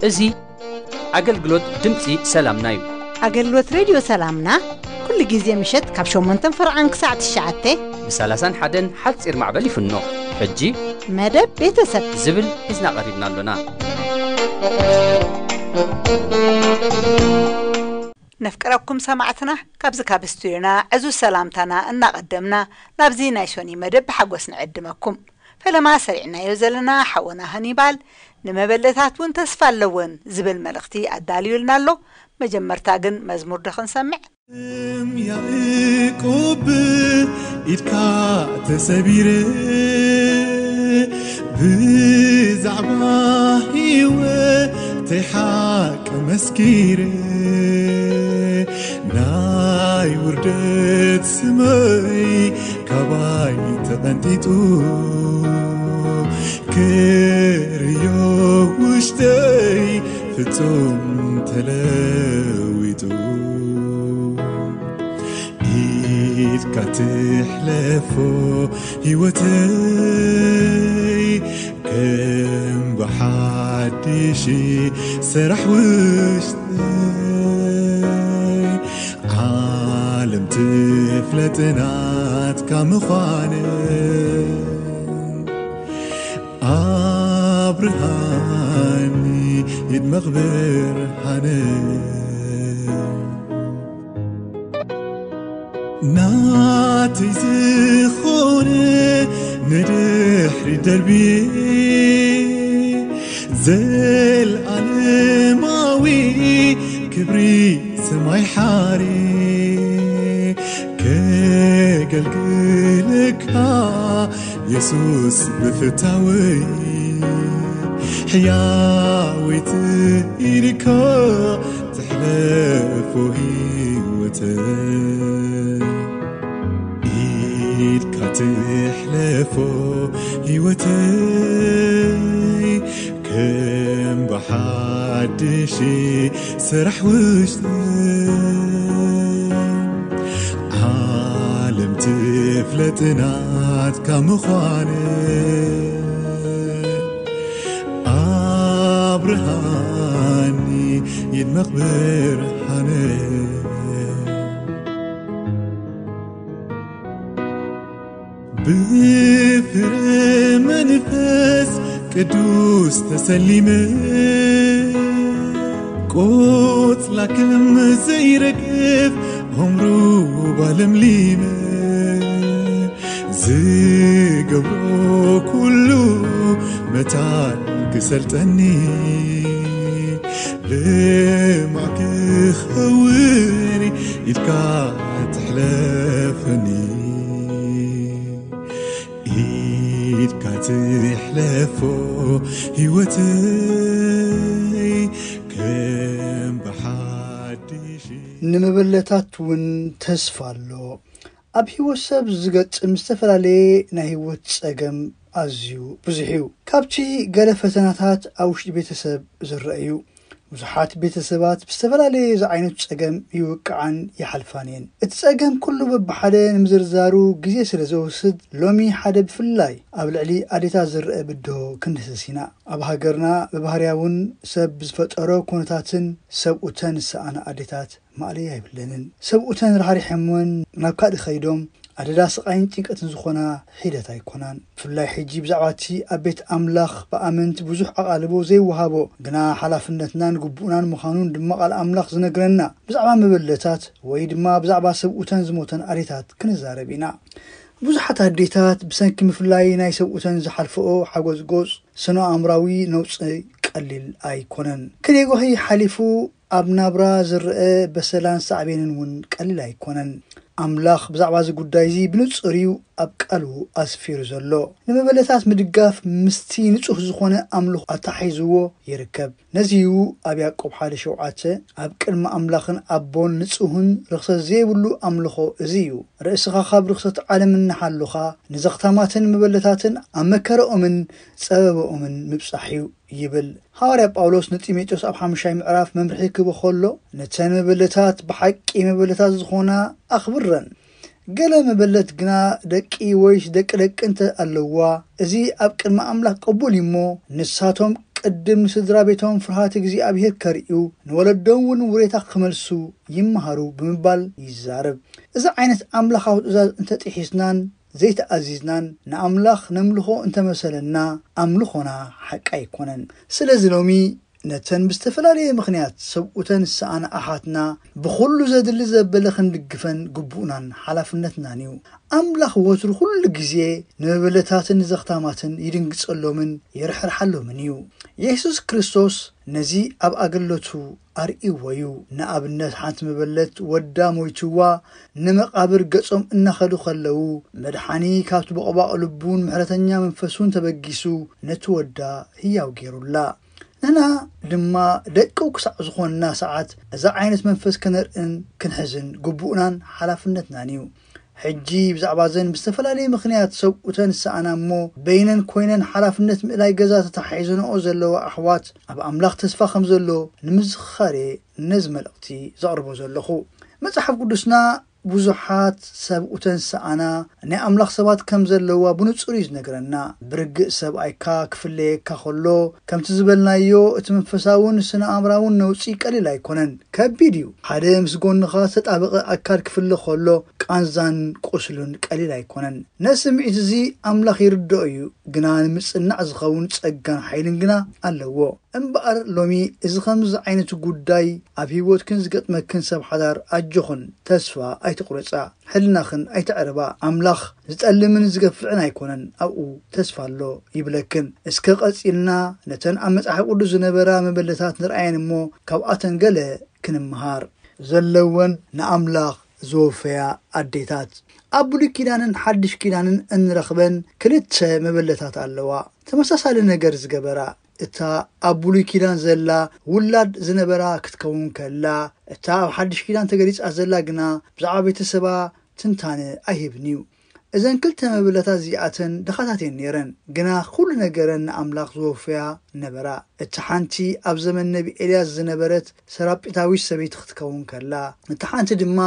እዚ ኣገልግሎት ድምፂ ሰላምና እዩ። ኣገልግሎት ሬድዮ ሰላምና ኩሉ ግዜ ምሸት ካብ ሸሞንተን ፈርዓን ክሳዕ ትሽዓተ ብ ሰላሳን ሓደን ሓፂር ማዕበል ይፍኖ። ሕጂ መደብ ቤተሰብ ዝብል ሒዝና ቀሪብና ኣሎና። ነፍቅረኩም ሰማዕትና፣ ካብዚ ካብ ስቱዲዮና ዕዙዝ ሰላምታና እናቐደምና ናብዚ ናይ ሶኒ መደብ ብሓጎስ ንዕድመኩም። ፈለማ ሰሪዕናዮ ዘለና ሓወና ሃኒባል ንመበለታት እውን ተስፋ ኣለወን ዝብል መልእኽቲ ኣዳልዩልና ኣሎ። መጀመርታ ግን መዝሙር ዶ ክንሰምዕ? እም ያዕቆብ ኢድካ ተሰቢረ ብዛዕባ ህይወተይ ሓቂ መስኪረ ናይ ውርደት ስመይ ካባይ ተቐንጢጡ ክርእዮ ውሽጠይ ፍጹም ተለዊጡ ኢድካ ትሕለፎ ህይወተይ ከም ብሓድሽ ሰራሕ ውሽጠይ ዓለም ትፍለጥ ናትካ ምዃነ ኣብርሃኒ ይድመቕ ብርሃነ ናተይ ዝኾነ ንድሕሪ ደርብየ ዘልኣለማዊ ክብሪ ሰማይ ሓሪ ከገልግልካ የሱስ ብፍታወይ ሕያወይቲ ኢልካ ትሕለፎ ህይወተይ ኢድካ ትሕለፎ ህይወተይ ከም ብሓድሽ ስራሕ ውሽጠይ ዓለም ትፍለጥ ናትካ ምዃነ ኣብርሃኒ ይድመቕ ብርሃነ ብፍረ መንፈስ ቅዱስ ተሰሊመ ቆጽላ ከም ዘይረግፍ ሆምሩ ባለምሊመ ዝገብሮ ኩሉ መታን ክሰልጠኒ ልማዕ ክኸውን ኢድካ ትሕለፈኒ ኢድካ ትሕለፎ ህይወተይ ከም ብሓድሽ ንምበለታት እውን ተስፋ ኣሎ። ኣብ ህይወት ሰብ ዝገጥም ዝተፈላለየ ናይ ህይወት ጸገም ኣዝዩ ብዙሕ እዩ። ካብቲ ገለ ፈተናታት ኣብ ውሽጢ ቤተሰብ ዝረአ እዩ። ብዙሓት ቤተሰባት ብዝተፈላለየ ዝዓይነቱ ጸገም ይውቅዓን ይሓልፋን እየን። እቲ ጸገም ኩሉ በብሓደ ንምዝርዛሩ ግዜ ስለ ዘወስድ ሎሚ ሓደ ብፍላይ ኣብ ልዕሊ ኣዴታት ዝረአ ብድሆ ክንድህስስ ኢና። ኣብ ሃገርና ብባህርያ እውን ሰብ ብዝፈጠሮ ኩነታትን ሰብኡተን ዝሰኣና ኣዴታት ማእለያ የብለንን። ሰብኡተን ራሕሪሖምወን ናብ ካልእ ከይዶም ኣደዳ ስቓይን ጭንቀትን ዝኾና ሒደት ኣይኮናን። ብፍላይ ሕጂ ብዛዕባ እቲ ኣብ ቤት ኣምላኽ ብኣመንቲ ብዙሕ ኣቓልቦ ዘይወሃቦ ግና ሓላፍነትናን ግቡእናን ምዃኑን ድማ ቃል ኣምላኽ ዝነግረና ብዛዕባ መበለታት ወይ ድማ ብዛዕባ ሰብኡተን ዝሞተን ኣዴታት ክንዛረብ ኢና። ብዙሓት ኣዴታት ብሰንኪ ምፍላይ ናይ ሰብኡተን ዝሓልፈኦ ሓጎስ ጎጽ ስነ ኣእምራዊ ነውጺ ቀሊል ኣይኮነን። ክኔጎሂ ሓሊፉ ኣብ ናብራ ዝረአ በሰላን ሳዕቤንን እውን ቀሊል ኣይኮነን። ኣምላኽ ብዛዕባ እዚ ጉዳይ እዚ ብንጹር እዩ ኣብ ቃሉ ኣስፊሩ ዘሎ። ንመበለታት ምድጋፍ ምስቲ ንጹህ ዝኾነ ኣምልኾ ኣተሓሒዝዎ ይርከብ። ነዚ እዩ ኣብ ያዕቆብ ሓደ ሸውዓተ፣ "ኣብ ቅድሚ ኣምላኽን ኣቦን ንጹህን ርኽሰት ዘይብሉ ኣምልኾ እዚ እዩ። ርእስኻ ካብ ርኽሰት ዓለም እናሓሉኻ፣ ንዘኽታማትን መበለታትን ኣብ መከረኦምን ጸበባኦምን ምብጻሕ እዩ" ይብል። ሃዋርያ ጳውሎስ ንጢሞቴዎስ ኣብ ሓሙሻይ ምዕራፍ መምርሒ ክህቦ ከሎ፣ "ነተን መበለታት ብሓቂ መበለታት ዝኾና ኣኽብረን። ገለ መበለት ግና ደቂ ወይስ ደቂ ደቂ እንተ ኣለዋ፣ እዚ ኣብ ቅድሚ ኣምላኽ ቅቡል እዩ እሞ፣ ንሳቶም ቅድም ንስድራ ቤቶም ፍርሃት እግዚኣብሔር ከርእዩ፣ ንወለዶም እውን ውሬታ ክመልሱ ይመሃሩ" ብምባል ይዛረብ። እዚ ዓይነት ኣምላኻዊ ትእዛዝ እንተጢሒስናን ዘይተኣዚዝናን፣ ንኣምላኽ ነምልኾ እንተመሰለና፣ ኣምልኾና ሓቂ ኣይኮነን። ስለዚ ሎሚ ነተን ብዝተፈላለየ ምኽንያት ሰብኡተን ዝሰኣና ኣሓትና ብኹሉ ዘድሊ ዘበለ ክንድግፈን ግቡእናን ሓላፍነትናን እዩ። ኣምላኽ ወትሩ ኩሉ ግዜ ንመበለታትን ንዘኽታማትን ይድንግጸሎምን ይርሕርሓሎምን እዩ። የሱስ ክርስቶስ ነዚ ኣብ ኣገልግሎቱ ኣርእይዎ እዩ። ንኣብነት፣ ሓንቲ መበለት ወዳ ሞይትዋ ንመቓብር ገጾም እናኸዱ ከለዉ፣ መድሓኒ ካብቲ ቦቕባቕ ልቡን ምሕረተኛ መንፈሱን ተበጊሱ ነቲ ወዳ ህያው ገይሩላ። ንሕና ድማ ደቁ ክሳዕ ዝኾንና ሰዓት፣ እዛ ዓይነት መንፈስ ከነርእን ክንሕዝን ግቡእናን ሓላፍነትናን እዩ። ሕጂ ብዛዕባ እዘን ብዝተፈላለየ ምኽንያት ሰብኡተን ዝሰኣና እሞ በይነን ኮይነን ሓላፍነት ምእላይ ገዛ ተተሓሒዘንኦ ዘለዋ ኣሕዋት፣ ኣብ ኣምላኽ ተስፋ ከም ዘሎ ንምዝኽኻር እየ ነዚ መልእኽቲ ዘቕርቦ ዘለኹ። መጽሓፍ ቅዱስና ብዙሓት ሰብኡተን ዝሰኣና ናይ ኣምላኽ ሰባት ከም ዘለዋ ብንጹር እዩ ዝነግረና። ብርግእ ሰብኣይካ ክፍለየካ ከሎ፣ ከምቲ ዝበልናዮ፣ እቲ መንፈሳውን ስነ ኣእምራውን ነውጺ ቀሊል ኣይኮነን፣ ከቢድ እዩ። ሓደ ምስ ጎንኻ ዝተጣበቐ ኣካል ክፍለ ከሎ፣ ቃንዛን ቁስሉን ቀሊል ኣይኮነን። ነዚ ስምዒት እዚ ኣምላኽ ይርድኦ እዩ፣ ግና ንምጽናዕ ዝኸውን ጸጋን ሓይልን ግና ኣለዎ። እምበኣር ሎሚ እዚ ከምዚ ዓይነት ጉዳይ ኣብ ህይወትክን ዝገጥመክን ሰብ ሓዳር ኣጆኽን ተስፋ ኣይትቑረጻ፣ ሕልናኽን ኣይተዕርባ። ኣምላኽ ዝጠልምን ዝገፍዕን ኣይኮነን፣ ኣብኡ ተስፋ ኣሎ ይብለክን። እስከ ቀጺልና ነተን ኣብ መጽሓፍ ቅዱስ ዝነበራ መበለታት ንርኣየን እሞ ካብኣተን ገለ ክንምሃር። ዘለወን ንኣምላኽ ዝወፈያ ኣዴታት። ኣብ ብሉይ ኪዳንን ሓድሽ ኪዳንን እንረኽበን ክልተ መበለታት ኣለዋ፣ ተመሳሳሊ ነገር ዝገበራ። እታ ኣብ ብሉይ ኪዳን ዘላ ውላድ ዝነበራ ክትከውን ከላ፣ እታ ኣብ ሓድሽ ኪዳን ተገሊጻ ዘላ ግና ብዛዕባ ቤተሰባ ትንታነ ኣይህብን እዩ። እዘን ክልተ መበለታት እዚኣተን ድኻታት እየን ነይረን፣ ግና ኩሉ ነገረን ንኣምላኽ ዝወፍያ ነበራ። እታ ሓንቲ ኣብ ዘመን ነቢ ኤልያስ ዝነበረት ሰራጲታዊት ሰበይቲ ክትከውን ከላ፣ እታ ሓንቲ ድማ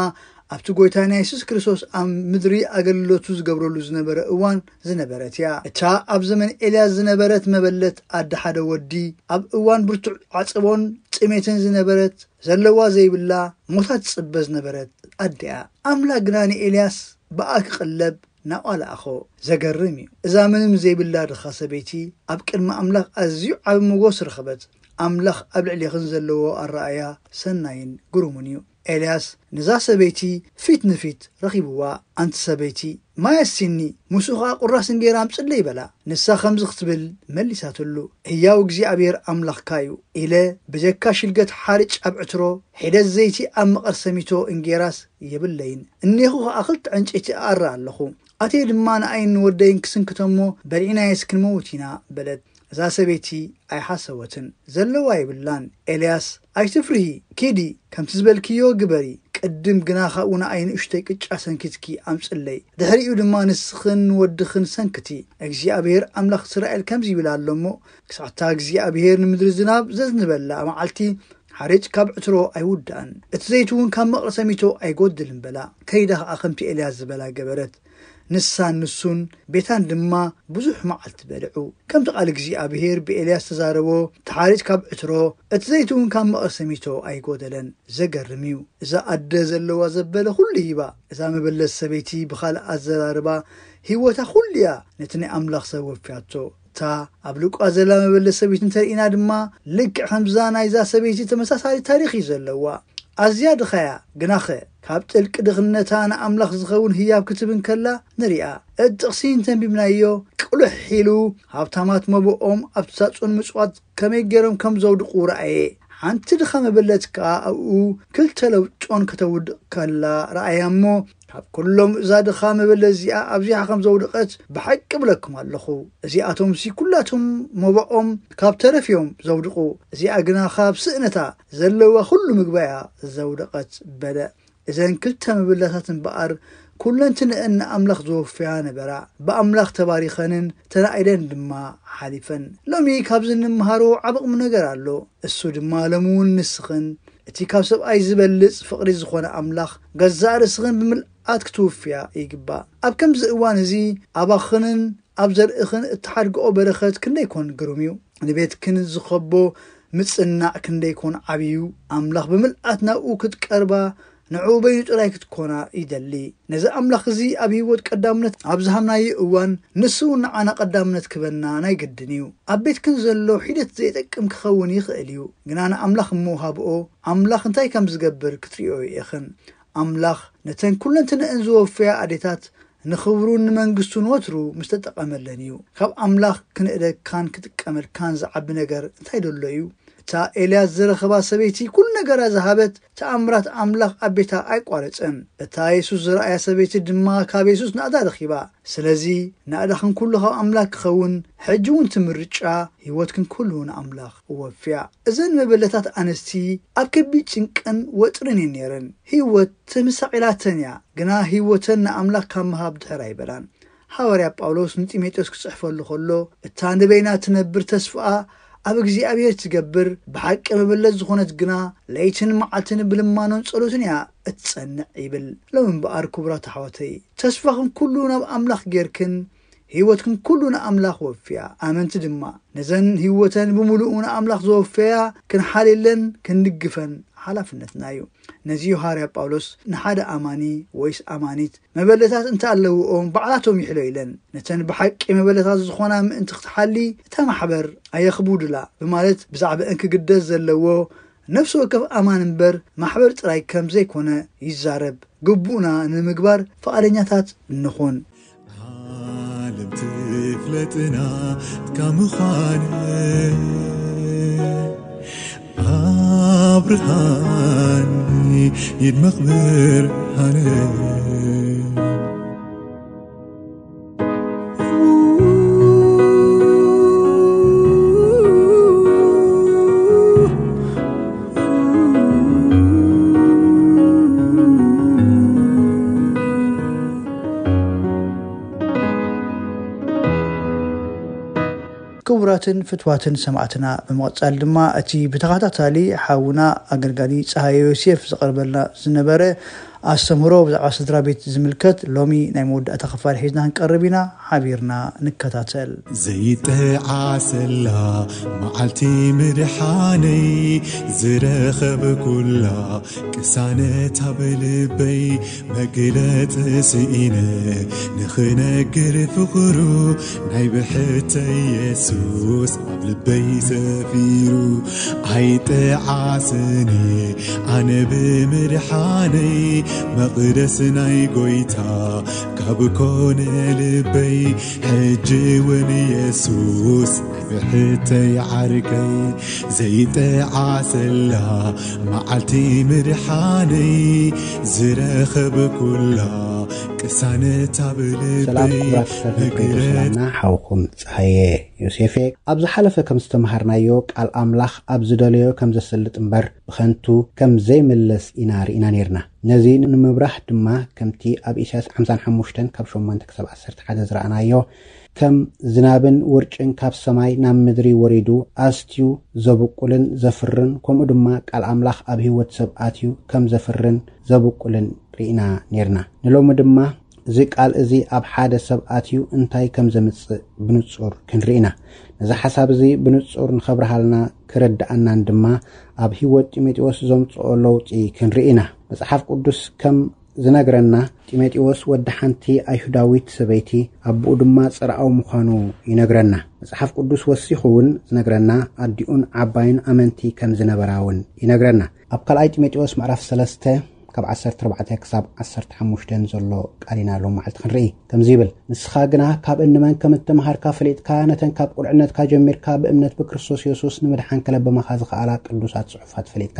ኣብቲ ጎይታ ናይ የሱስ ክርስቶስ ኣብ ምድሪ ኣገልግሎቱ ዝገብረሉ ዝነበረ እዋን ዝነበረት እያ። እታ ኣብ ዘመን ኤልያስ ዝነበረት መበለት ኣደ ሓደ ወዲ፣ ኣብ እዋን ብርቱዕ ዓጸቦን ጥሜትን ዝነበረት፣ ዘለዋ ዘይብላ፣ ሞታ ትጽበ ዝነበረት ኣደ እያ። ኣምላኽ ግና ንኤልያስ ብኣ ክቕለብ ናብኣ ለኣኾ። ዘገርም እዩ። እዛ ምንም ዘይብላ ድኻ ሰበይቲ ኣብ ቅድሚ ኣምላኽ ኣዝዩ ዓቢ ሞገስ ረኸበት። ኣምላኽ ኣብ ልዕሌኽን ዘለዎ ኣረኣእያ ሰናይን ግሩምን እዩ። ኤልያስ ነዛ ሰበይቲ ፊት ንፊት ረኺብዋ፣ "ኣንቲ ሰበይቲ፣ ማይ ኣስቲኒ፣ ምስኡ ኸኣ ቁራስ እንጌራ ኣምጽለይ" በላ። ንሳ ከምዚ ክትብል መሊሳትሉ፣ "ህያው እግዚኣብሔር ኣምላኽካ እዩ" ኢለ፣ ብጀካ ሽልገት ሓርጭ ኣብ ዕትሮ፣ ሒደት ዘይቲ ኣብ መቐርሰሚቶ እንጌራስ የብለይን፣ እኔኹ ኸኣ ክልተ ዕንጨይቲ እኣሪ ኣለኹ። ኣትየ ድማ ንኣይን ንወደይን ክስንክቶሞ፣ በሊዕናየስ ክንመውት ኢና በለት። እዛ ሰበይቲ ኣይሓሰወትን፣ ዘለዋ የብላን። ኤልያስ፣ "ኣይትፍርሂ፣ ኪዲ፣ ከምቲ ዝበልክዮ ግበሪ፣ ቅድም ግና ካብኡ ንኣይ ንእሽተይ ቅጫ ሰንኪትኪ ኣምጽለይ፣ ድሕሪኡ ድማ ንስኽን ንወድኽን ሰንክቲ። እግዚኣብሔር ኣምላኽ እስራኤል ከምዚ ይብል ኣሎ እሞ፣ ክሳዕታ እግዚኣብሔር ንምድሪ ዝናብ ዘዝንበላ መዓልቲ፣ ሓርጭ ካብ ዕትሮ ኣይውዳእን፣ እቲ ዘይቲ እውን ካብ መቐርሰሚቶ ኣይጎድልን" በላ። ከይዳ ኸኣ ከምቲ ኤልያስ ዝበላ ገበረት። ንሳን ንሱን ቤታን ድማ ብዙሕ መዓልቲ በልዑ። ከምቲ ቃል እግዚኣብሔር ብኤልያስ ተዛረቦ፣ እቲ ሓርጭ ካብ ዕትሮ፣ እቲ ዘይቲ እውን ካብ መቐርሰሚቶ ኣይጎደለን። ዘገርም እዩ። እዛ ኣደ ዘለዋ ዘበለ ኩሉ ሂባ። እዛ መበለት ሰበይቲ ብኻልእ ኣዘራርባ ህይወታ ኩሉ እያ ነቲ ናይ ኣምላኽ ሰብ ወፍያቶ። እታ ኣብ ሉቃስ ዘላ መበለት ሰበይቲ እንተርኢና ድማ ልክዕ ከምዛ ናይዛ ሰበይቲ ተመሳሳሊ ታሪኽ እዩ ዘለዋ። ኣዝያ ድኻ እያ፣ ግናኸ ካብ ጥልቂ ድኽነታ ንኣምላኽ ዝኸውን ህያብ ክትህብ እንከላ ንሪኣ። እቲ ጥቕሲ እንተንቢብናዮ ቅልሕ ኢሉ፣ ሃብታማት መብኦም ኣብቲ ሳጹን ምጽዋት ከመይ ገይሮም ከም ዘውድቑ ረኣየ። ሓንቲ ድኻ መበለት ከኣ ኣብኡ ክልተ ለውጮን ከተውድቕ ከላ ረኣያ እሞ፣ ካብ ኩሎም እዛ ድኻ መበለት እዚኣ ኣብዚሓ ከም ዘውደቐት ብሓቂ እብለኩም ኣለኹ። እዚኣቶምሲ ኩላቶም መባኦም ካብ ተረፍ እዮም ዘውድቑ፣ እዚኣ ግና ካብ ስእነታ ዘለዋ ኩሉ ምግባ እያ ዘውደቐት በለ። እዘን ክልተ መበለታት እምበኣር ኩለንትንአን ንኣምላኽ ዘወፍያ ነበራ። ብኣምላኽ ተባሪኸንን ተናኢለን ድማ ሓሊፈን። ሎሚ ካብዚ እንምሃሮ ዓቢ ቁም ነገር ኣሎ። እሱ ድማ ሎሚ እውን ንስኽን እቲ ካብ ሰብኣይ ዝበልጽ ፍቕሪ ዝኾነ ኣምላኽ ገዛእ ርእስኽን ብምልኣት ክትውፍያ ይግባእ። ኣብ ከምዚ እዋን እዚ ኣባኽንን ኣብ ዘርእኽን እትሓድግኦ በረኸት ክንደይ ኮን ግሩም እዩ። ንቤትክን ዝኸቦ ምጽናዕ ክንደይ ኮን ዓብዩ። ኣምላኽ ብምልኣት ናብኡ ክትቀርባ ንዕኡ በይኑ ጥራይ ክትኮና ይደሊ። ነዚ ኣምላኽ እዚ ኣብ ህይወት ቀዳምነት ኣብ ዝሃብናዮ እዋን ንሱ እውን ንዓና ቀዳምነት ክበና ናይ ግድን እዩ። ኣብ ቤትክን ዘሎ ሒደት ዘይጠቅም ክኸውን ይኽእል እዩ፣ ግና ንኣምላኽ እሞ ሃብኦ። ኣምላኽ እንታይ ከም ዝገብር ክትርእዮ ኢኽን። ኣምላኽ ነተን ኩለንትንአን ዝወፈያ ኣዴታት ንኽብሩን ንመንግስቱን ወትሩ ምስ ተጠቐመለን እዩ። ካብ ኣምላኽ ክንእደግካን ክጥቀመልካን ዝዓቢ ነገር እንታይ ደሎ እዩ? እታ ኤልያስ ዝረኸባ ሰበይቲ ኩሉ ነገራ ዝሃበት፣ ተኣምራት ኣምላኽ ኣብ ቤታ ኣይቋረጸን። እታ የሱስ ዝረኣያ ሰበይቲ ድማ ካብ የሱስ ናእዳ ረኺባ። ስለዚ ናእዳኽን ኩሉ ካብ ኣምላኽ ክኸውን፣ ሕጂ እውን እቲ ምርጫ ህይወትክን ኩሉ ንኣምላኽ እወፍያ። እዘን መበለታት ኣንስቲ ኣብ ከቢድ ጭንቅን ወጥርን እየን ነይረን። ህይወት ተመሳቒላተን እያ፣ ግና ህይወተን ንኣምላኽ ካብ ምሃብ ድሕር ኣይበላን። ሃዋርያ ጳውሎስ ንጢሞቴዎስ ክጽሕፈሉ ከሎ፣ እታ ንበይና ትነብር ተስፋኣ ኣብ እግዚኣብሔር ትገብር፣ ብሓቂ መበለት ዝኾነት ግና ለይትን መዓልትን ብልማኖን ጸሎትን እያ እትጸንዕ ይብል። ሎም እምበኣር ክቡራት ኣሕዋተይ፣ ተስፋኽን ኩሉ ናብ ኣምላኽ ጌርክን፣ ህይወትክን ኩሉ ንኣምላኽ ወፍያ። ኣመንቲ ድማ ነዘን ህይወተን ብምሉኡ ንኣምላኽ ዘወፈያ ክንሓልየለን ክንድግፈን ሓላፍነትና እዩ። ነዚ እዩ ሃዋርያ ጳውሎስ ንሓደ ኣማኒ ወይስ ኣማኒት መበለታት እንተ ኣለውኦም ባዕላቶም ይሕሎ ኢለን። ነተን ብሓቂ መበለታት ዝኾና ምእንቲ ክትሓሊ እታ ማሕበር ኣየኽቡድላ ብማለት ብዛዕባአን ክግደስ ዘለዎ ነፍሲ ወከፍ ኣማን እምበር ማሕበር ጥራይ ከም ዘይኮነ ይዛረብ። ግቡእና ንምግባር ፍቓደኛታት ንኹን። ዓለም ትፍለጥና ካብ ምዃን ኣብርሃን ይድመቕ ብርሃን። ክቡራትን ፍትዋትን ሰማዕትና፣ ብምቕጻል ድማ እቲ ብተኸታታሊ ሓውና ኣገልጋሊ ጸሃየ ዮሴፍ ዝቐርበልና ዝነበረ ኣስተምህሮ ብዛዕባ ስድራ ቤት ዝምልከት ሎሚ ናይ መወዳእታ ክፋል ሒዝና ክንቀርብ ኢና። ሓቢርና ንከታተል። ዘይጠዓሰላ መዓልቲ ምድሓነይ ዝረኸብኩላ ቅሳነት ኣብ ልበይ መግለጽ ስኢነ ንኽነግር ፍቕሩ ናይ ብሕተይ የሱስ ኣብ ልበይ ሰፊሩ። ኣይጠዓስን ኣነ ብምድሓነይ መቕደስ ናይ ጎይታ ካብ ኮነ ልበይ ሕጂ እውን የሱስ ናይ ብሕተይ ዓርከይ ዘይጠዓሰላ መዓልቲ ምድሓነይ ዝረኸብኩላ ቅሳነት ኣብ ልበይ ሰላም ክቡራት ተኸታተልቲ መግለጽ ሰላምና፣ ሓውኹም ጸሃየ ዮሴፍ እየ። ኣብ ዝሓለፈ ከም ዝተምሃርናዮ፣ ቃል ኣምላኽ ኣብ ዝደለዮ ከም ዘስልጥ እምበር ብኸንቱ ከም ዘይምለስ ኢና ርኢና ነይርና። ነዚ ንምብራህ ድማ ከምቲ ኣብ ኢሳያስ ሓምሳን ሓሙሽተን ካብ ሸሞንተ ክሳብ ዓሰርተ ሓደ ዝረኣናዮ፣ ከም ዝናብን ውርጭን ካብ ሰማይ ናብ ምድሪ ወሪዱ ኣስትዩ ዘብቁልን ዘፍርን፣ ከምኡ ድማ ቃል ኣምላኽ ኣብ ህይወት ሰብ ኣትዩ ከም ዘፍርን ዘብቁልን ርኢና ነይርና። ንሎሚ ድማ እዚ ቃል እዚ ኣብ ሓደ ሰብ ኣትዩ እንታይ ከም ዘምጽእ ብንጹር ክንርኢ ኢና። ነዚ ሓሳብ እዚ ብንጹር ንኸብርሃልና ክርድኣናን ድማ ኣብ ህይወት ጢሞቴዎስ ዘምጽኦ ለውጢ ክንርኢ ኢና። መጽሓፍ ቅዱስ ከም ዝነግረና፣ ጢሞቴዎስ ወዲ ሓንቲ ኣይሁዳዊት ሰበይቲ፣ ኣቦኡ ድማ ጽርኣዊ ምዃኑ ይነግረና። መጽሓፍ ቅዱስ ወሲኹ እውን ዝነግረና፣ ኣዲኡን ዓባይን ኣመንቲ ከም ዝነበራ እውን ይነግረና። ኣብ ካልኣይ ጢሞቴዎስ ምዕራፍ ሰለስተ ካብ ዓሰርተ ኣርባዕተ ክሳብ ዓሰርተ ሓሙሽተ ዘሎ ቃል ኢና ሎም መዓልቲ ክንርኢ። ከምዚ ይብል፣ "ንስኻ ግና ካብ እንመን ከም እተምሃርካ ፈሊጥካ፣ ነተን ካብ ቁልዕነትካ ጀሚርካ ብእምነት ብክርስቶስ የሱስ ንምድሓን ከለብመኻ ዝኸኣላ ቅዱሳት ጽሑፋት ፈሊጥካ፣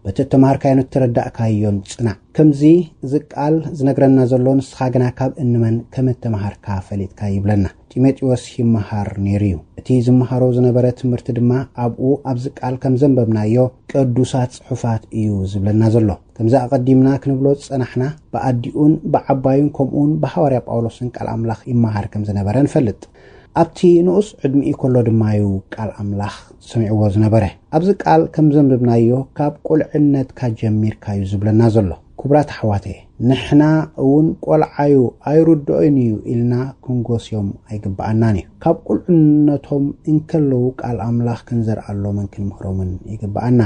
በቲ እተምሃርካዮን እተረዳእካዮን ጽናዕ።" ከምዚ እዚ ቃል ዝነግረና ዘሎ፣ "ንስኻ ግና ካብ እንመን ከም እተምሃርካ ፈሊጥካ" ይብለና። ጢሞቴዎስ ይመሃር ነይሩ እዩ። እቲ ዝመሃሮ ዝነበረ ትምህርቲ ድማ ኣብኡ ኣብዚ ቃል ከም ዘንበብናዮ ቅዱሳት ጽሑፋት እዩ ዝብለና ዘሎ። ከምዚ ኣቐዲምና ክንብሎ ዝጸናሕና፣ ብኣዲኡን ብዓባዩን ከምኡውን ብሃዋርያ ጳውሎስን ቃል ኣምላኽ ይመሃር ከም ዝነበረ ንፈልጥ። ኣብቲ ንኡስ ዕድሚኡ ከሎ ድማ እዩ ቃል ኣምላኽ ሰሚዕዎ ዝነበረ። ኣብዚ ቃል ከም ዘንብብናዮ ካብ ቁልዕነትካ ጀሚርካ እዩ ዝብለና ዘሎ። ክቡራት ኣሕዋተየ፣ ንሕና እውን ቆልዓዩ ኣይርድኦን እዩ ኢልና ክንጎስዮም ኣይግብኣናን እዩ። ካብ ቁልዕነቶም እንከለዉ ቃል ኣምላኽ ክንዘርኣሎምን ክንምህሮምን ይግብኣና።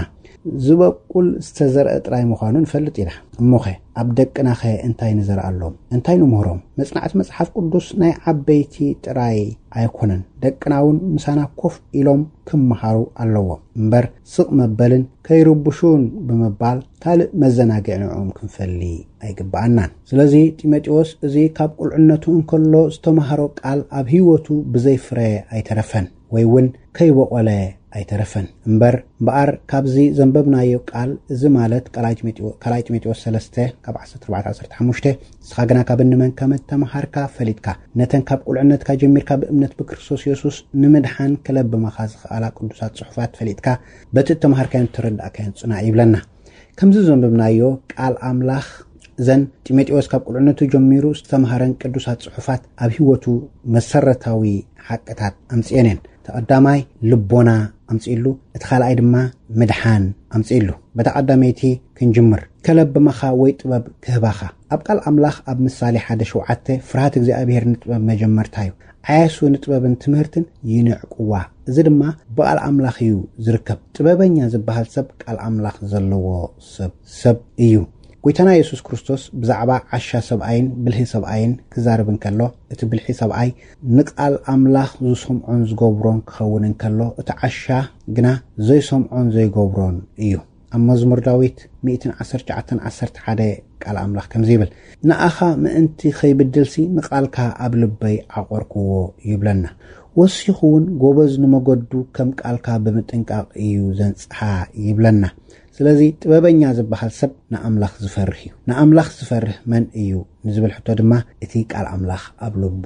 ዝበቁል ዝተዘርአ ጥራይ ምዃኑ ንፈልጥ ኢና። እሞኸ ኣብ ደቅናኸ እንታይ ንዘርኣሎም? እንታይ ንምህሮም? መጽናዕቲ መጽሓፍ ቅዱስ ናይ ዓበይቲ ጥራይ ኣይኮነን። ደቅና እውን ምሳና ኮፍ ኢሎም ክመሃሩ ኣለዎም። እምበር ስቕ መበልን ከይርብሹን ብምባል ካልእ መዘናግዒ ንዕኦም ክንፈሊ ኣይግብኣናን። ስለዚ ጢሞቴዎስ እዚ ካብ ቁልዕነቱ እንከሎ ዝተማሃሮ ቃል ኣብ ህይወቱ ብዘይ ፍረ ኣይተረፈን፣ ወይ እውን ከይበቖለ ኣይተረፈን። እምበር እምበኣር ካብዚ ዘንበብናዮ ቃል፣ እዚ ማለት ካልኣይ ጢሞቴዎ-፣ ካልኣይ ጢሞቴዎስ ሰለስተ ካብ ዓሰርተ ኣርባዕተ ዓሰርተ ሓሙሽተ፣ "ንስኻ ግና ካብ እንመን ከም እተመሃርካ ፈሊጥካ፣ ነተን ካብ ቁልዕነትካ ጀሚርካ ብእምነት ብክርስቶስ የሱስ ንምድሓን ክለብመኻ ዝኸኣላ ቅዱሳት ጽሑፋት ፈሊጥካ፣ በቲ እተመሃርካዮን እተረዳእካዮን ጽናዕ" ይብለና። ከምዚ ዘንበብናዮ ቃል ኣምላኽ፣ እዘን ጢሞቴዎስ ካብ ቁልዕነቱ ጀሚሩ ዝተምሃረን ቅዱሳት ጽሑፋት ኣብ ህይወቱ መሰረታዊ ሓቅታት ኣምጽኤን እየን። እቲ ቀዳማይ ልቦና ኣምጺእሉ፣ እቲ ካልኣይ ድማ ምድሓን ኣምጺእሉ። በታ ቀዳመይቲ ክንጅምር። "ከለብመኻ ወይ ጥበብ ክህባኻ?" ኣብ ቃል ኣምላኽ ኣብ ምሳሌ ሓደ ሸውዓተ፣ "ፍርሃት እግዚኣብሔር ንጥበብ መጀመርታ እዩ፣ ዓያሱ ንጥበብን ትምህርትን ይንዕቅዋ፣ እዚ ድማ ብቓል ኣምላኽ እዩ ዝርከብ። ጥበበኛ ዝበሃል ሰብ ቃል ኣምላኽ ዘለዎ ሰብ፣ ሰብ እዩ።" ጎይታና የሱስ ክርስቶስ ብዛዕባ ዓሻ ሰብኣይን ብልሂ ሰብኣይን ክዛረብ እንከሎ፣ እቲ ብልሒ ሰብኣይ ንቓል ኣምላኽ ዝሰምዖን ዝገብሮን ክኸውን እንከሎ፣ እቲ ዓሻ ግና ዘይሰምዖን ዘይገብሮን እዩ። ኣብ መዝሙር ዳዊት ሚእትን ዓሰርተ ትሽዓተን ዓሰርተ ሓደ ቃል ኣምላኽ ከምዚ ይብል፣ "ንኣኻ ምእንቲ ኸይብድልሲ ንቓልካ ኣብ ልበይ ዓቖርክዎ" ይብለና። ወሲኹ እውን፣ "ጎበዝ ንመገዱ ከም ቃልካ ብምጥንቃቕ እዩ ዘንጽሓ" ይብለና። ስለዚ ጥበበኛ ዝበሃል ሰብ ንኣምላኽ ዝፈርህ እዩ። ንኣምላኽ ዝፈርህ መን እዩ ንዝብል ሕቶ ድማ፣ እቲ ቃል ኣምላኽ ኣብ ልቡ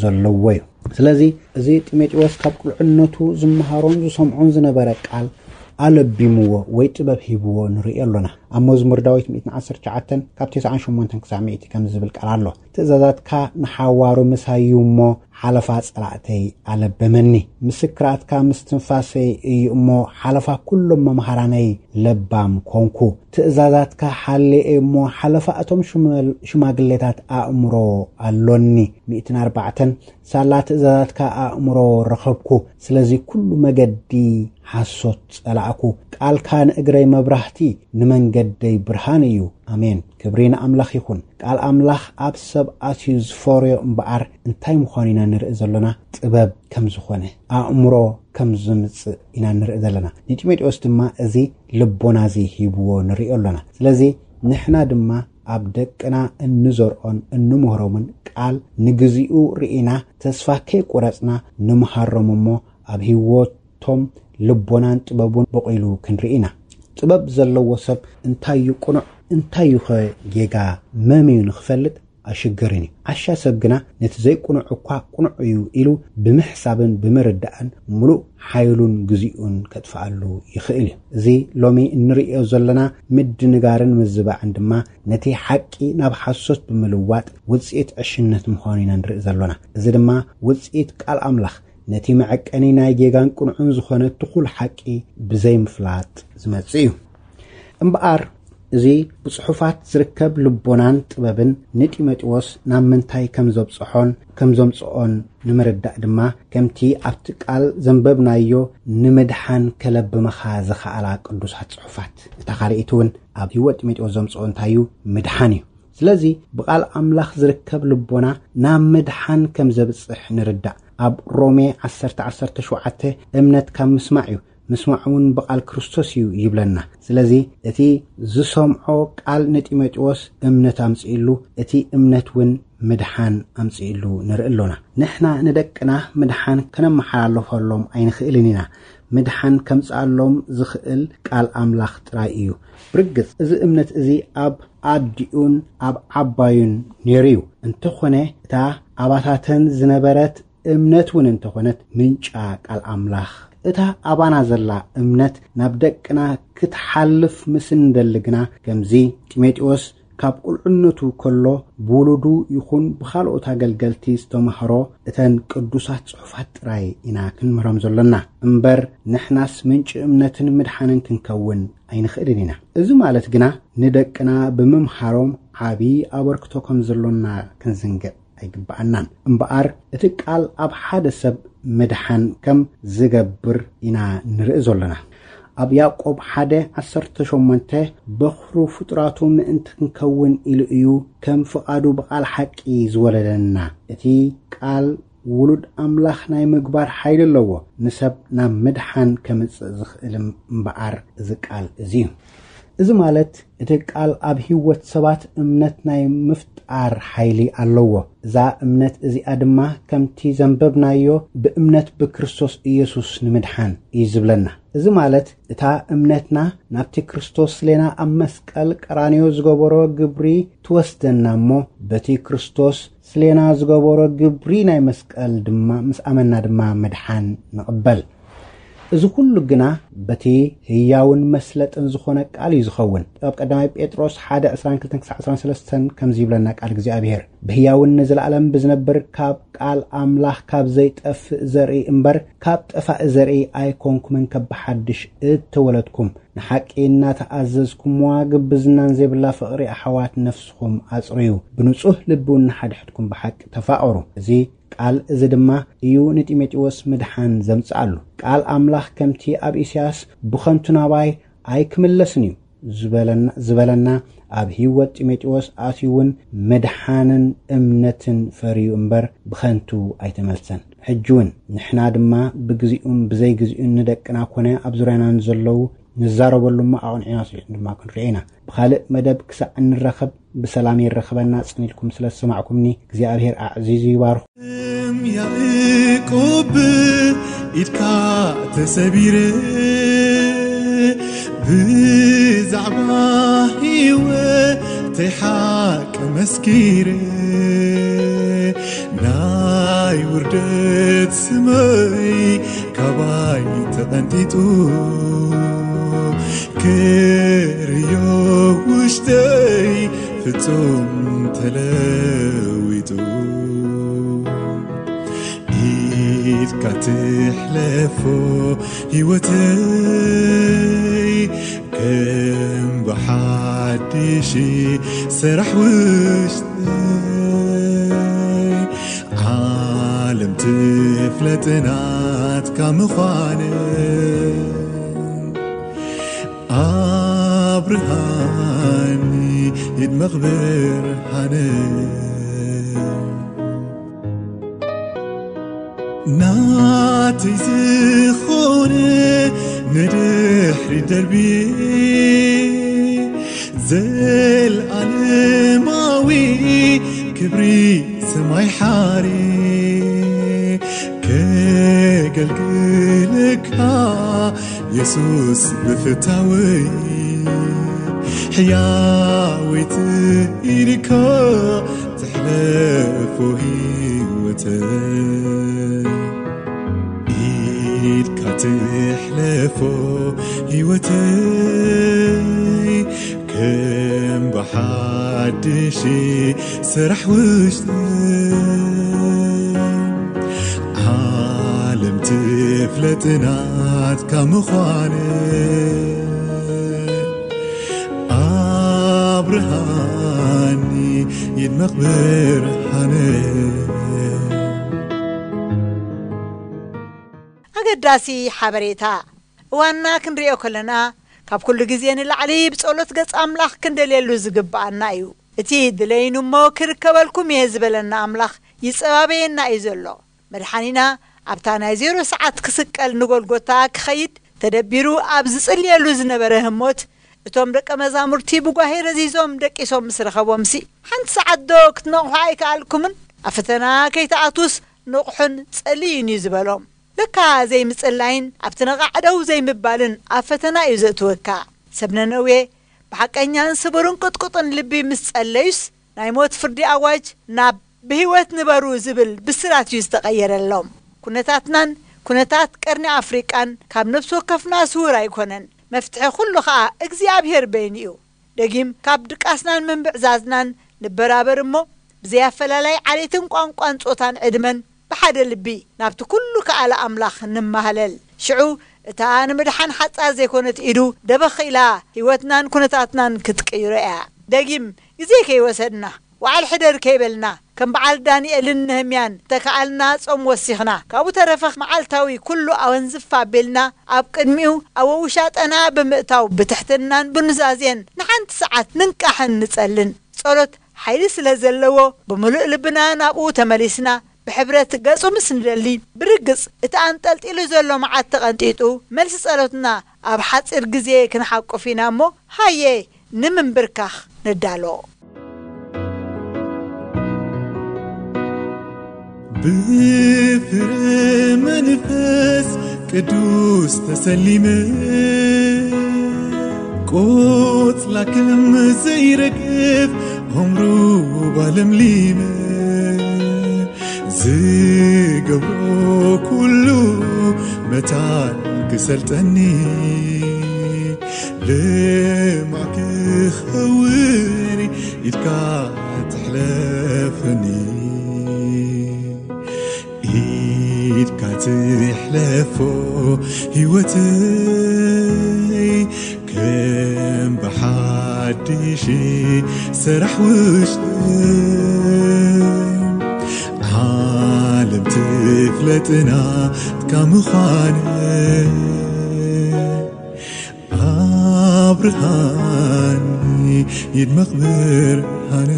ዘለዎ እዩ። ስለዚ እዚ ጢሞቴዎስ ካብ ቁልዕነቱ ዝመሃሮን ዝሰምዖን ዝነበረ ቃል ኣለቢምዎ ወይ ጥበብ ሂብዎ ንርኢ ኣሎና። ኣብ መዝሙር ዳዊት ሚእትን ዓሰርተ ትሽዓተን ካብ ተስዓን ሸሞንተን ክሳዕ ሚእቲ ከምዚ ዝብል ቃል ኣሎ፣ "ትእዛዛትካ ንሓዋሩ ምሳይ እዩ እሞ፣ ሓለፋ ጸላእተይ ኣለበመኒ። ምስክራትካ ምስ ትንፋሰይ እዩ እሞ፣ ሓለፋ ኩሎም መምሃራነይ ለባም ኮንኩ። ትእዛዛትካ ሓልየ እሞ፣ ሓለፋ እቶም ሽመል-፣ ሽማግሌታት ኣእምሮ ኣሎኒ።" ሚእትን ኣርባዕተን ሳላ ትእዛዛትካ ኣእምሮ ረኸብኩ፣ ስለዚ ኩሉ መገዲ ሓሶት ጸላእኩ። ቃልካ ንእግረይ መብራህቲ፣ ንመንገደይ ብርሃን እዩ። ኣሜን። ክብሪ ንኣምላኽ ይኹን። ቃል ኣምላኽ ኣብ ሰብ ኣትዩ ዝፈርዮ እምበኣር፣ እንታይ ምዃኑ ኢና ንርኢ ዘሎና? ጥበብ ከም ዝኾነ፣ ኣእምሮ ከም ዝምጽእ ኢና ንርኢ ዘለና። ንጢሞቴዎስ ድማ እዚ ልቦና እዚ ሂብዎ ንሪኦ ኣሎና። ስለዚ ንሕና ድማ ኣብ ደቅና እንዘርኦን እንምህሮምን ቃል ንግዚኡ ርኢና፣ ተስፋ ከይቆረጽና ንምሃሮም እሞ፣ ኣብ ህይወቶም ልቦናን ጥበቡን በቂሉ ክንርኢ ኢና። ጥበብ ዘለዎ ሰብ እንታይ እዩ ቅኑዕ፣ እንታይ እዩ ኸ ጌጋ፣ መም እዩ ንኽፈልጥ ኣሽገርን እዩ። ዓሻ ሰብ ግና ነቲ ዘይቅኑዕ እኳ ቅኑዕ እዩ ኢሉ ብምሕሳብን ብምርዳእን ምሉእ ሓይሉን ግዚኡን ከጥፍኣሉ ይኽእል እዩ። እዚ ሎሚ እንርእዮ ዘለና ምድንጋርን ምዝባዕን ድማ ነቲ ሓቂ ናብ ሓሶት ብምልዋጥ ውጽኢት ዕሽነት ምዃኑ ኢና ንርኢ ዘሎና። እዚ ድማ ውጽኢት ቃል ኣምላኽ ነቲ መዐቀኒ ናይ ጌጋን ቅኑዕን ዝኾነ ትኹል ሓቂ ብዘይምፍላጥ ዝመጽእ እዩ። እምበኣር፣ እዚ ብጽሑፋት ዝርከብ ልቦናን ጥበብን ንጢሞቴዎስ ናብ ምንታይ ከም ዘብጽሖን ከም ዘምጽኦን ንምርዳእ ድማ፣ ከምቲ ኣብቲ ቃል ዘንበብናዮ፣ ንምድሓን ከለብመኻ ዝኸኣላ ቅዱሳት ጽሑፋት። እታ ካልኣይቲ እውን ኣብ ህይወት ጢሞቴዎስ ዘምጽኦ እንታይ እዩ? ምድሓን እዩ። ስለዚ ብቓል ኣምላኽ ዝርከብ ልቦና ናብ ምድሓን ከም ዘብጽሕ ንርዳእ። ኣብ ሮሜ ዓሰርተ ዓሰርተ ሸውዓተ፣ "እምነት ካብ ምስማዕ እዩ፣ ምስማዕ እውን ብቓል ክርስቶስ እዩ ይብለና። ስለዚ እቲ ዝሰምዖ ቃል ንጢሞቴዎስ እምነት ኣምጽእሉ፣ እቲ እምነት እውን ምድሓን ኣምጽእሉ ንርኢ ኣሎና። ንሕና ንደቅና ምድሓን ከነመሓላልፈሎም ኣይንኽእልን ኢና። ምድሓን ከምጽኣሎም ዝኽእል ቃል ኣምላኽ ጥራይ እዩ። ብርግጽ፣ እዚ እምነት እዚ ኣብ ኣዲኡን ኣብ ዓባዩን ነይሩ እዩ። እንተኾነ፣ እታ ኣባታተን ዝነበረት እምነት እውን እንተኾነት፣ ምንጫ ቃል ኣምላኽ፣ እታ ኣባና ዘላ እምነት ናብ ደቅና ክትሓልፍ ምስ እንደሊ ግና፣ ከምዚ ጢሞቴዎስ ካብ ቁልዕነቱ ከሎ ብውሉዱ ይኹን ብኻልኦት ኣገልገልቲ ዝተማህሮ እተን ቅዱሳት ጽሑፋት ጥራይ ኢና ክንምህሮም ዘሎና እምበር፣ ንሕናስ ምንጪ እምነትን ምድሓንን ክንከውን ኣይንኽእልን ኢና። እዚ ማለት ግና ንደቅና ብምምሃሮም ዓቢ ኣበርክቶ ከም ዘሎና ክንዝንግዕ ኣይግብኣናን። እምበኣር፣ እቲ ቃል ኣብ ሓደ ሰብ ምድሓን ከም ዝገብር ኢና ንርኢ ዘሎና። ኣብ ያዕቆብ ሓደ ዓሰርተ ሸሞንተ፣ በኹሩ ፍጡራቱ ምእንቲ ክንከውን ኢሉ እዩ ከም ፍቓዱ ብቓል ሓቂ ዝወለደና። እቲ ቃል ውሉድ ኣምላኽ ናይ ምግባር ሓይሊ ኣለዎ። ንሰብ ናብ ምድሓን ከምጽእ ዝኽእል እምበኣር እዚ ቃል እዚ እዩ። እዚ ማለት፣ እቲ ቃል ኣብ ህይወት ሰባት እምነት ናይ ምፍጣር ሓይሊ ኣለዎ። እዛ እምነት እዚኣ ድማ፣ ከምቲ ዘንበብናዮ፣ ብእምነት ብክርስቶስ ኢየሱስ ንምድሓን እዩ ዝብለና። እዚ ማለት፣ እታ እምነትና ናብቲ ክርስቶስ ስሌና ኣብ መስቀል ቀራንዮ ዝገበሮ ግብሪ ትወስደና እሞ፣ በቲ ክርስቶስ ስሌና ዝገበሮ ግብሪ ናይ መስቀል ድማ፣ ምስ ኣመና ድማ ምድሓን ንቕበል። እዚ ኩሉ ግና በቲ ህያውን መስለጥን ዝኾነ ቃል እዩ ዝኸውን። ኣብ ቀዳማይ ጴጥሮስ ሓደ ዕስራን ክልተን ክሳዕ ዕስራን ሰለስተን ከምዚ ይብለና ቃል እግዚኣብሔር፣ "ብህያውን ንዘለኣለም ብዝነብር ካብ ቃል ኣምላኽ ካብ ዘይጠፍእ ዘርኢ እምበር ካብ ጠፋኢ ዘርኢ ኣይኮንኩምን፣ ከብሓድሽ እተወለድኩም፣ ንሓቂ እናተኣዘዝኩምዋ ግብዝናን ዘይብላ ፍቕሪ ኣሕዋት ነፍስኹም ኣጽርዩ፣ ብንጹህ ልቢ እውን ንሓድሕድኩም ብሓቂ ተፋቐሩ።" እዚ ቃል እዚ ድማ እዩ ንጢሞቴዎስ ምድሓን ዘምጽኣሉ። ቃል ኣምላኽ ከምቲ ኣብ ኢሳያስ "ብኸንቱ ናባይ ኣይክምለስን እዩ" ዝበለና፣ ዝበለና፣ ኣብ ህይወት ጢሞቴዎስ ኣትዩ እውን ምድሓንን እምነትን ፈርዩ እምበር ብኸንቱ ኣይተመልሰን። ሕጂ እውን ንሕና ድማ ብግዚኡን ብዘይግዚኡን ንደቅና ኮነ ኣብ ዙርያና ንዘለዉ ንዛረበሉ እሞ ኣቕንዒና ስሪሕን ድማ ክንርኢ ኢና። ብኻልእ መደብ ክሳዕ እንራኸብ ብሰላም የራኽበና። ጽን ኢልኩም ስለ ዝሰማዕኩምኒ እግዚኣብሔር ኣዕዚዙ ይባርኹ። እም ያዕቆብ ኢድካ ተሰቢረ ብዛዕባ ህይወተይ ሓቂ መስኪረ ናይ ውርደት ስመይ ካባይ ተቐንጢጡ ክርእዮ ውሽጠይ ፍጹም ተለዊጡ። ኢድካ ትሕለፎ ህይወተይ ከም ብሓድሽ ሰራሕ ውሽጠይ ዓለም ትፍለጥ ናትካ ምዃነ ኣብርሃኒ ኢድ መኽብር ሃነ። ናተይ ዝኾነ ንድሕሪ ደርቢ ዘልኣለማዊ ክብሪ ሰማይ ሓሪ ከገልግለካ የሱስ ብፍታወይ ሕያወይቲ ኢድካ ትሕለፎ ህይወተይ ኢድካ ትሕለፎ ህይወተይ ከም ብሓድሽ ስራሕ ውሽጠይ ዓለም ትፍለጥ ናትካ ምዃነ ኣብርሃኒ ኢድ መኽብር ሃነ። ኣገዳሲ ሓበሬታ። እዋንና ክንሪኦ ከለና፣ ካብ ኩሉ ግዜ ንላዕሊ ብጸሎት ገጽ ኣምላኽ ክንደልየሉ ዝግብኣና እዩ። እቲ "ድለዩኒ እሞ ክርከበልኩም እየ" ዝበለና ኣምላኽ ይጸባበየና እዩ ዘሎ። መድሓኒና ኣብታ ናይ ዜሮ ሰዓት ክስቀል ንጎልጎታ ክኸይድ ተደቢሩ ኣብ ዝጽልየሉ ዝነበረ ህሞት፣ እቶም ደቀ መዛሙርቲ ብጓሄ ረዚዞም ደቂሶም ምስ ረኸቦምሲ፣ ሓንቲ ሰዓት ዶ ክትነቕሑ ኣይከኣልኩምን? ኣብ ፈተና ከይትኣትዉስ ንቕሑን ጸልዩን እዩ ዝበሎም። ለካ ዘይምጽላይን ኣብቲ ነቓዕ ደው ዘይምባልን ኣብ ፈተና እዩ ዘእትወካ። ሰብ ነነዌ ብሓቀኛን ስቡርን ቅጥቁጥን ልቢ ምስ ጸለዩስ፣ ናይ ሞት ፍርዲ ኣዋጅ ናብ ብህይወት ንበሩ ዝብል ብስራት እዩ ዝተቐየረሎም። ኩነታትናን ኩነታት ቀርኒ ኣፍሪቃን ካብ ነፍሲ ወከፍና ስውር ኣይኮነን። መፍትሒ ኩሉ ኸኣ እግዚኣብሔር በይኑ እዩ። ደጊም ካብ ድቃስናን ምንብዕዛዝናን ንበራበር እሞ፣ ብዘይ ኣፈላላይ ዓሌትን ቋንቋን ጾታን ዕድመን ብሓደ ልቢ ናብቲ ኩሉ ከኣለ ኣምላኽ ንማህለል። ሽዑ እታ ንምድሓን ሓጻር ዘይኮነት ኢዱ ደበኽ ኢላ ህይወትናን ኩነታትናን ክትቅይሮ እያ። ደጊም ግዜ ከይወሰድና፣ ወዓል ሕደር ከይበልና፣ ከም በዓል ዳንኤልን ነህምያን ተከኣልና ጾም ወሲኽና፣ ካብኡ ተረፈ መዓልታዊ ኩሉ ኣወንዝፍ ኣቢልና ኣብ ቅድሚኡ ኣብ ውሻጠና ብምእታው ብትሕትናን ብኑዛዜን ንሓንቲ ሰዓት ንንቃሕን ንጸልን። ጸሎት ሓይሊ ስለ ዘለዎ ብምሉእ ልብና ናብኡ ተመሊስና ብሕብረት ገጹ ምስ ንደሊ፣ ብርግጽ እቲ ኣንጠልጢሉ ዘሎ መዓት ተቐንጢጡ፣ መልሲ ጸሎትና ኣብ ሓጺር ግዜ ክንሓቁፍ ኢና እሞ፣ ሃየ ንምንብርካኽ ንዳሎ። ብፍረ መንፈስ ቅዱስ ተሰሊመ፣ ቆጽላ ከም ዘይረግፍ ሆምሩባ ለምሊመ፣ ዝገብሮ ኩሉ መታን ክሰልጠኒ፣ ልማዕ ክኸውን ኢድካ ትሕለፈኒ። ኢድካ ትሕለፎ ህይወተይ ከም ብሓድሽ ሰራሕ ውሽጠይ፣ ዓለም ትፍለጥና ትካ ምዃነ ኣብርሃኒ ይድመቕ ብርሃነ።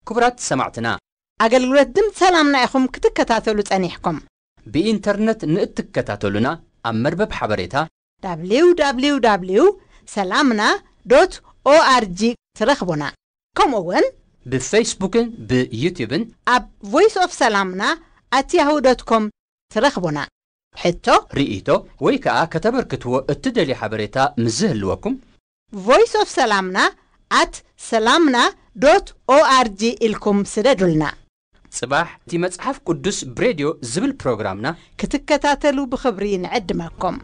ክቡራት ሰማዕትና፣ ኣገልግሎት ድምፂ ሰላምና ኢኹም ክትከታተሉ ጸኒሕኩም። ብኢንተርነት ንእትከታተሉና ኣብ መርበብ ሓበሬታ www ሰላምና ዶት ኦኣርጂ ትረኽቡና። ከምኡ እውን ብፌስቡክን ብዩትዩብን ኣብ ቮይስ ኦፍ ሰላምና ኣት ያሁ ዶት ኮም ትረኽቡና። ሕቶ፣ ርእይቶ ወይ ከዓ ከተበርክትዎ እትደልዩ ሓበሬታ ምስ ዝህልወኩም ቮይስ ኦፍ ሰላምና ኣት ሰላምና ዶት ኦኣርጂ ኢልኩም ስደዱልና። ጽባሕ እቲ መጽሓፍ ቅዱስ ብሬድዮ ዝብል ፕሮግራምና ክትከታተሉ ብኽብሪ ንዕድመኩም።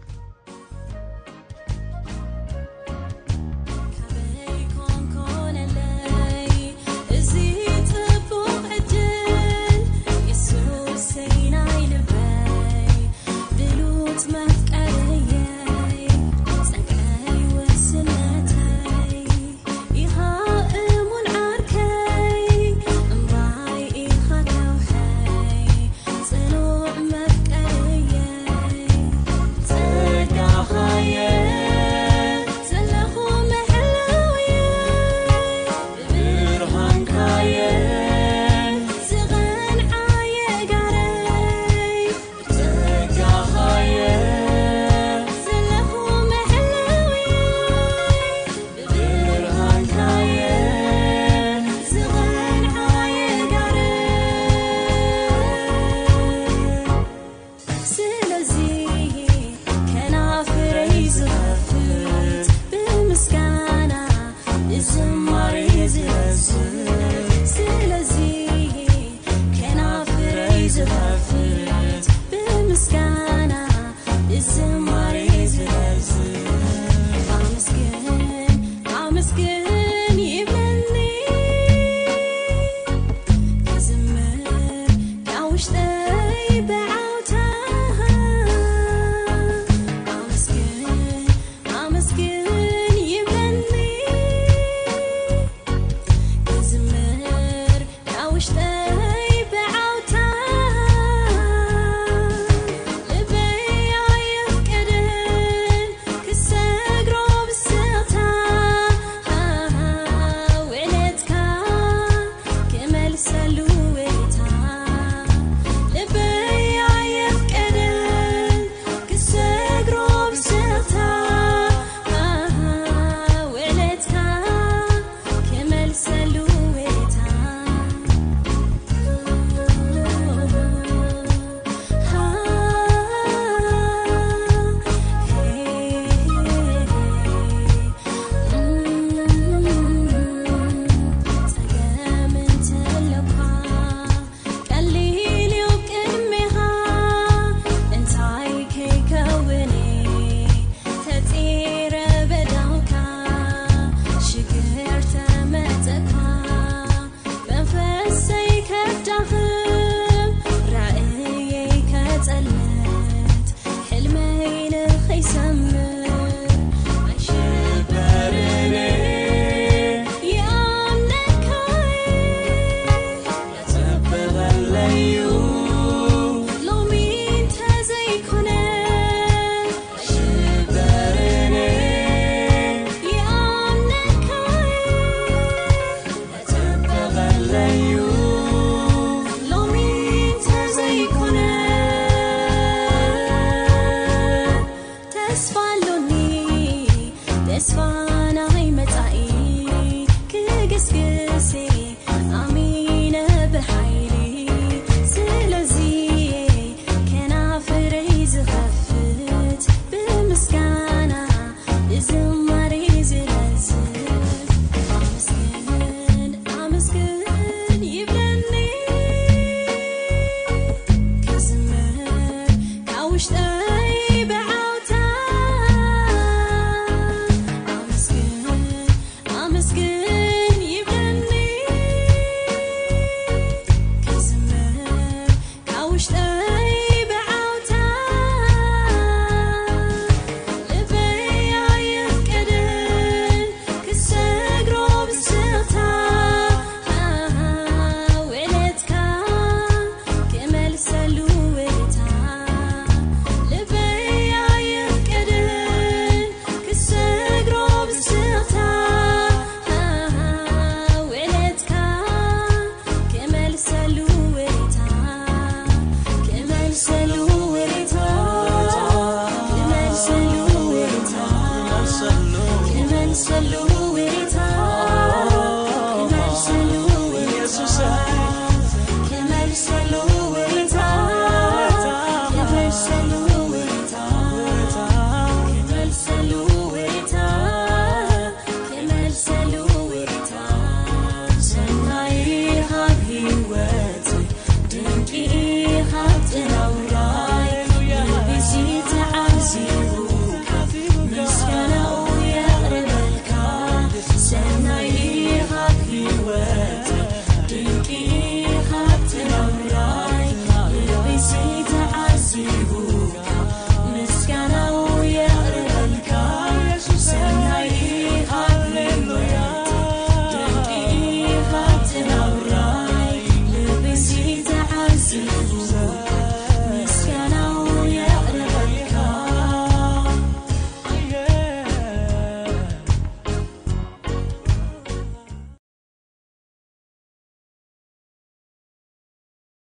ሰሉ